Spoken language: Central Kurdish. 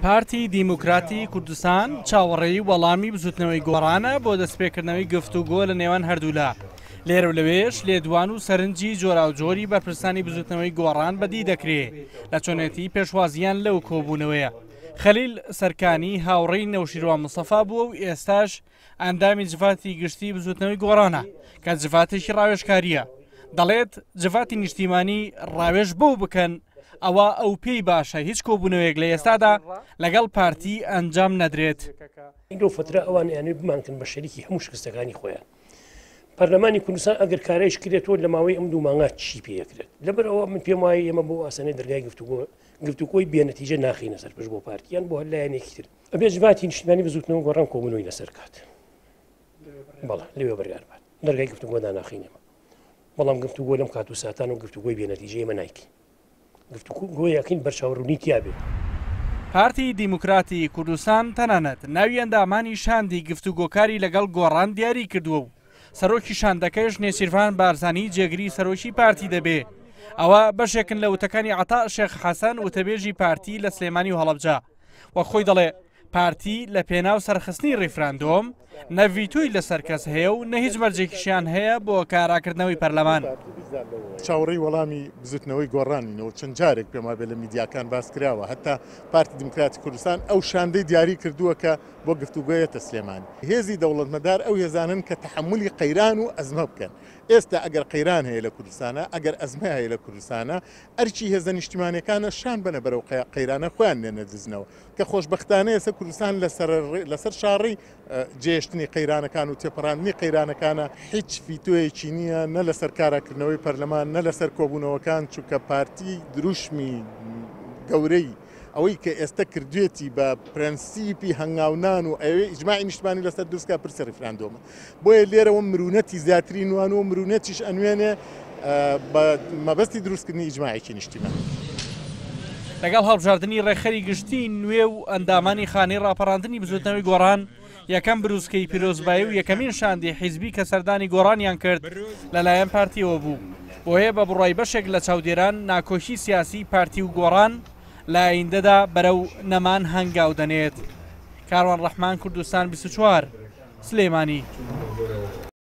پارتی دیموکراتی کوردستان چاوەڕێی وەڵامی بزوتنەوەی گۆڕانە بۆ دەستپێکردنەوەی گفتوگۆ لە نێوان هەردوولا. لێرە و لەوێش لێدوان و سەرنجی جۆراوجۆری بەرپرسانی بزوتنەوەی گۆڕان بەدی دەکرێ لە چۆنێتی پێشوازییان لەو کۆبوونەوەیە. خەلیل سەرکانی هاوڕێی نەوشیروان مستەفا بووە و ئێستاش ئەندامی جڤاتی گشتی بزوتنەوەی گۆڕانە کە جڤاتێکی ڕاوێژکارییە، دەڵێت جڤاتی نیشتیمانی ڕاوێژ بەو بکەن ئەوا ئەو پێی باشە هیچ کۆبوونەوەیەک لە ئێستادا لەگەڵ پارتی ئەنجام نەدرێت. لەو فترە ئەوان ئەیانەوێت بمانکەن بە شەریکی هەموو شکستەکانی خۆیان. پەرلەمانی کوردستان ئەگەر کارایش کرێتەوە لە ماوەی ئەم دوو مانگا چی پێ ئەکرێت؟ لەبەر ئەوە من پێم وایە ئێمە بۆ ئاسانەی دەرگای گفتوگۆ گفتوگۆی بێنەتیجە ناخینە سەر پشت بۆ پارتیان بۆ هەر لایەنێکی تر. ئەبێ جڤاتی نیشتمانی بزوتنەوە گۆڕان کۆبوونەوەی لەسەر کات. بەڵێ لەوێ بڕیار بات. دەرگای گفتوگۆ داناخین ئێمە. بەڵام گفتوگۆ لەم کات و ساتان و گفتوگۆی بێنەتیجە ئێمە نایکەین. گفتوگۆی ئەکەین بەرچاوڕوونی تیا بێ. پارتی دیموکراتی کوردستان تەنانەت ناوی ئەندامانی شاندی گفتوگۆکاری لەگەڵ گۆڕان دیاری کردووە و سەرۆکی شاندەکەش نێچیرڤان بارزانی جێگری سەرۆکی پارتی دەبێ. ئەوە بەشێکن لە وتەکانی عەتا شێخ حەسەن وتەبێژی پارتی لە سلێمانی و هەڵەبجە. وەک خۆی دەڵێ پارتی لە پێناو سەرخستنی ڕیفراندۆم نە ڤیتۆی لەسەر کەس هەیە و نە هیچ مەرجێکیشیان هەیە بۆ کاراکردنەوەی پەرلەمان. چاوەڕێی وەڵامی بزوتنەوەی گۆڕانین و چەند جارێک پێم وابێ لە میدیاکان باس کراوە، هەتا پارتی دیموکراتی کوردستان ئەو شاندەی دیاری کردووە کە بۆ گفتوگۆ یەتە سلێمانی. هێزی دەوڵەتمەدار ئەو هێزانەن کە تەحەمولی قەیران و ئەزمە بکەن. ئێستا ئەگەر قەیران هەیە لە کوردستانا، ئەگەر ئەزمە هەیە لە کوردستانا، ئەرکی هێزە نیشتیمانیەکانە شان بەنە بەرەو قەیرانە خۆیان لێنەدزنەوە کە خۆشبەختانە ئێستا کوردستان لەسەر شاڕێی جێهێشتنی قەیرانەکان و تێپەڕاندنی قەیرانەکانە، هیچ ڤیتۆیەکی نییە نە لەسەر کاراکردنەوەی پەرلەمان نە لەسەر کۆبوونەوەکان، چونکە پارتی دروشمی گەورەی ئەوەی کە ئێستا کردوێتی بە پرەنسیپی هەنگاونان و ئەوێ ئیجماعی نیشتمانی لەسەر دروستکا پرسی ڕیفراندۆمە. بۆیە لێرەوە مرونەتی زیاتری نوان و مرونەتیش ئەنوێنێ بە مەبەستی دروستکردنی ئیجماعێکی نیشتیمانی. لەگەڵ هەڵبژاردنی ڕێکخەری گشتیی نوێ و ئەندامانی خانەی ڕاپەڕاندنی بزوتنەوەی گۆڕان، یەکەم بروسکەی پیرۆزبایی و یەکەمین شاندی حیزبی کە سەردانی گۆڕانیان کرد لەلایەن پارتیەوە بوو. بۆیە بە بڕوای بەشێک لە چاودێران ناکۆکی سیاسی پارتی و گۆڕان لە ئایندەدا بەرەو نەمان هەنگاو دەنێت. کاروان ڕەحمان کوردستان 24 سلێمانی.